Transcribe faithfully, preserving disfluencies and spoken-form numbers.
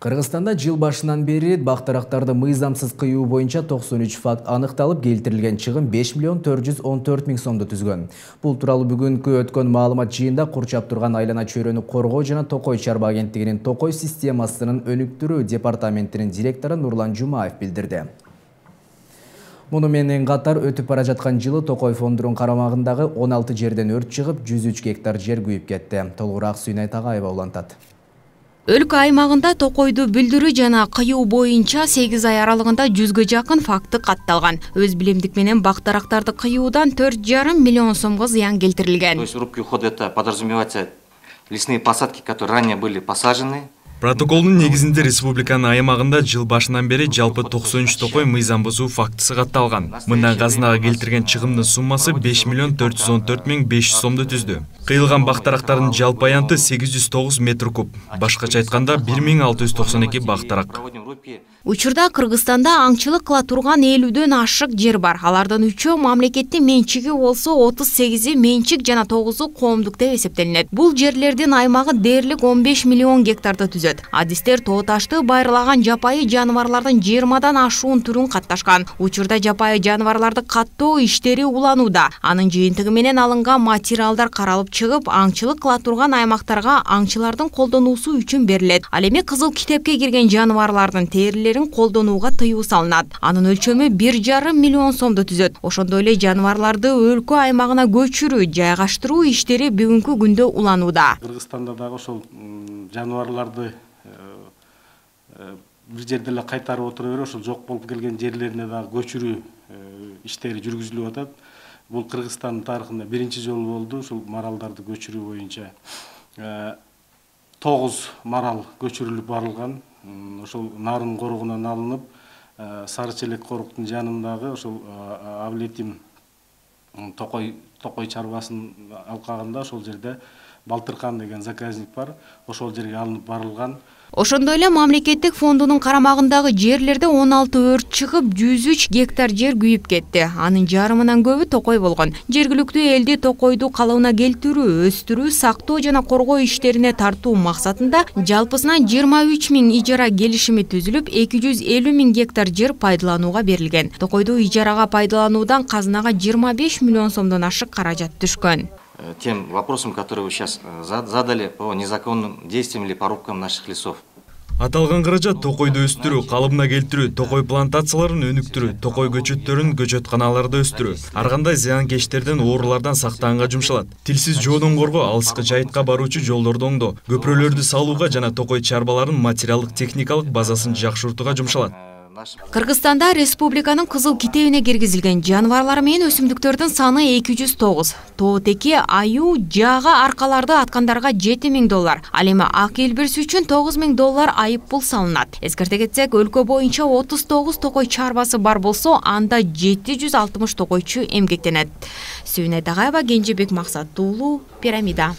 Кыргызстанда жыл башынан бери бактарактарды мыйзамсыз кыюу боюнча токсон үч факт аныкталып, келтирилген чыгым беш миллион төрт жүз он төрт миң сомду түзгөн. Бул тууралуу бүгүнкү өткөн маалымат жыйында курчап турган айлана чөйрөнү коргоо жана Токой чарба агенттигинин Токой системасынын өнүктүрүү департаментинин директору Нурлан Жумаев билдирди. Муну менен катар өтүп бара жаткан жылы Токой фондунун карамагындагы он алты жерден өрт чыгып, жүз үч гектар жер күйүп кетти. Толугураак Сүйнай Тагаева улантат. Өлкө аймагында токойду бүлдүрүү жана кыюу боюнча сегиз ай аралыгында жүзгө жакын факты катталган. Өз билимдик менен бактарактарды кыюудан төрт жарым миллион сомго зыян келтирилген. То есть рубки ухода это подразумевается лесные посадки, которые ранее были посажены. Протоколдун негизинде республиканын аймагында жыл башынан бери жалпы токсон үч токой мыйзам бузуу фактысы катталган. Мындан казынага келтирген чыгымдын суммасы беш миллион төрт жүз он төрт миң беш жүз сомду түздү. Кыйылган бактарактардын жалпы аянты сегиз жүз тогуз метр куб. Башкача айтканда бир миң алты жүз токсон эки бактарак. Учурда Кыргызстанда аңчылык кыла турган элүүдөн ашык жер бар. Алардын үчөө мамлекеттин менчиги болсо, отуз сегизи менчик жана тогузу коомдук деп эсептелинет. Бул жерлердин аймагы дээрлик он беш миллион гектарды түзөт. Адистер тоо ташты байырлаган жапайы жаныбарлардын жыйырмадан ашуун түрүн катташкан. Учурда жапайы жаныбарларды каттоо иштери уланууда. Анын жыйынтыгы менен алынган материалдар каралып чыгып, аңчылык кыла турган аймактарга аңчылардын колдонуусу үчүн берилет. Ал эми кызыл китепке кирген жаныбарлардын терилерин колдонууга тыюу салынат. Анын өлчөмү бир жарым миллион сомду түзөт. Ошондой эле жаныбарларды өлкө аймагына көчүрүү, жайгаштыруу иштери бүгүнкү күндө уланууда. Кыргызстанда дагы ошол жаныбарларды бир жерде эле кайтарып отура берип, ошол жок болуп келген жерлерине дагы көчүрүү иштери жүргүзүлүп атат. Бул Кыргызстандын тарыхында биринчи жолу болду. Ушул маралдарды көчүрүү боюнча тогуз марал көчүрүлүп барылган. Ошол нарын коругунан алынып, Сары Челек коруктун жанындагы ошол Аблетим Токой Токой чарбасынын алкагында ошол жерде Балтыркан деген заказник бар. Ошол жерге алынып барылган. Ошондой эле мамлекеттик фондунун карамагындагы жерлерде он алты өрт чыгып, жүз үч гектар жер күйүп кетти. Анын жарымынан көбү Токой болгон. Жергиликтүү элди Токойду калыбына келтирүү, өстүрүү, сактоо жана коргоо иштерине тартуу максатында жалпысынан жыйырма үч миң ижара келишими түзүлүп, эки жүз элүү миң гектар жер пайдаланууга берилген. Токойду ижарага пайдалануудан казынага жыйырма беш миллион сомдон ашык каражат түшкөн. Тем вопросам, которые вы сейчас задали по незаконным действиям или порубкам наших лесов. Аталган каражат токойду өстүрүү, калыбына келтирүү, токой плантацияларын өнүктүрүү, токой көчөттөрүн көчөтканаларда өстүрүү, ар кандай зыянкечтерден, оорулардан сактаганга жумшалат. Тилсиз жоодон коргоо, алыскы жайытка баруучу жолдорду оңдоо, көпүрөлөрдү салууга жана токой чарбаларынын материалдык техникалык базасын жакшыртууга жумшалат. Кыргызстанда республиканын кызыл китебине киргизилген жаныбарлар менен өсүмдүктөрдүн саны эки жүз тогуз. Тоотеки, аюу, жаага аркаларды аткандарга жети миң доллар. Ал эми ак элбирси үчүн тогуз миң доллар айып пул салынат. Эскерте кетсек, өлкө боюнча отуз тогуз токой чарбасы бар болсо, анда жети жүз алтымыш токойчу эмгектенет. Сүйнай Тагаева, Кенжебек Максат уулу, Пирамида.